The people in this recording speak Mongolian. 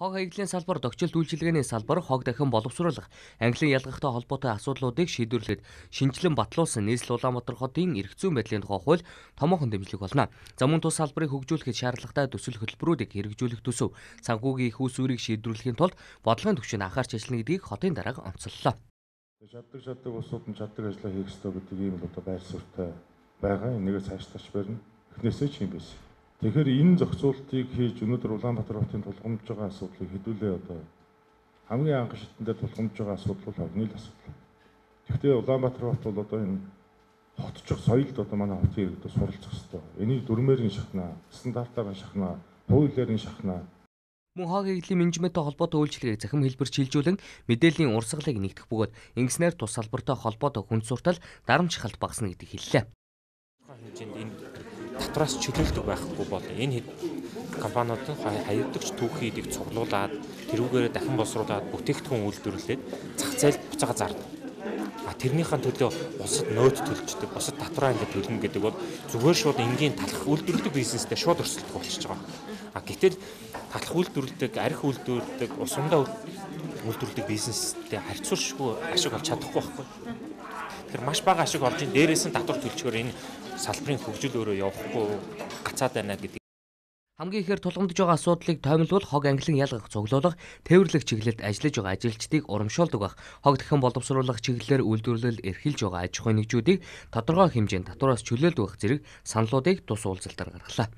Хог хаягдлын салбар, догчилт үйлчилгээний салбар, хог дахин боловсруулах, ангилан ялгахтай холбоотой асуудлуудыг шийдвэрлэхэд шинжилэн батлуулсан нийслэл Улаанбаатар хотын эрх зүйн байдлын тухай хууль томоохон дэмжлэг болно. За мөн тус салбарыг хөгжүүлэхэд шаардлагатай төсөл хөтөлбөрүүдийг хэрэгжүүлэх төсөв, санхүүгийн их усүрийг шийдвэрлэхийн тулд бодлогын түвшинд анхаарч ажиллана гэдгийг хотын дарга онцоллоо. Чаддаг усууд нь чаддаг ажлаа хийх ёстой гэдэг ийм л байр суурьтай байгаа. Энийгээ цааш барина. Эхнээсээ ч юм биш. Тэгэхээр энэ зохицуултыг хийж өнөөдөр Улаанбаатар хотын тулгамдж байгаа асуудлыг хэдүүлээ хамгийн анх шатндаа тулгамдж байгаа асуудал бол орны л асуудал. Гэхдээ Улаанбаатар хот бол энэ хотчих соёлд манай хотын иргэд суралцах ёстой. Энийг дүрмээр нь шахнаа, стандартаар нь шахнаа, хуулиар нь шахнаа. Мөн хог хаягдлын менежменттэй холбоотой үйлчилгээг захим хэлбэр чийлжүүлэн мэдээллийн урсгалыг нэгтгэх бөгөөд ингэснээр тус салбартай холбоотой хүн суртал дарамт шахалт багасна гэдгийг хэллээ. Татвараас чөлөөлдөг байхгүй бол энэ компаниуд хаягдагч түүхийдийг цуглуулад тэрүүгээр дахин боловсруулад бүтээгдэхүүн үйлдвэрлээд зах зээлд буцаага зардаг. Тэрнийхэн төлөө улсад нөөц төлждөг, бусад татвараа ингэ төлнө гэдэг бол зүгээр шууд энгийн талах үйлдвэрлэдэг бизнестэй шууд өрсөлдөх болчихж байгаа. Гэтэл талах үйлдвэрлэдэг, арх үйлдвэрлэдэг, усандаа үйлдвэрлэдэг бизнестэй харьцуулшгүй ашиг олж чадахгүй байхгүй. Тэгэхээр маш бага ашиг олж ин дээрээс нь татвар төлчгөр энэ салбарын хөгжил өөрөө явахгүй гацаад байна гэдэг. Хамгийн ихээр тулгамдж байгаа асуудлыг тоймлбол хог ангилан ялгах, цуглуулах, тээвэрлэх чиглэлд ажиллаж байгаа ажилчдыг урамшуулдаг байх. Хог дахин боловсруулах чиглэлээр үйлдвэрлэл эрхэлж байгаа аж ахуйн нэгжүүдийг тодорхой хэмжээнд татвараас чөлөөлдөг зэрэг саналуудыг тус уулзалтаар гаргалаа.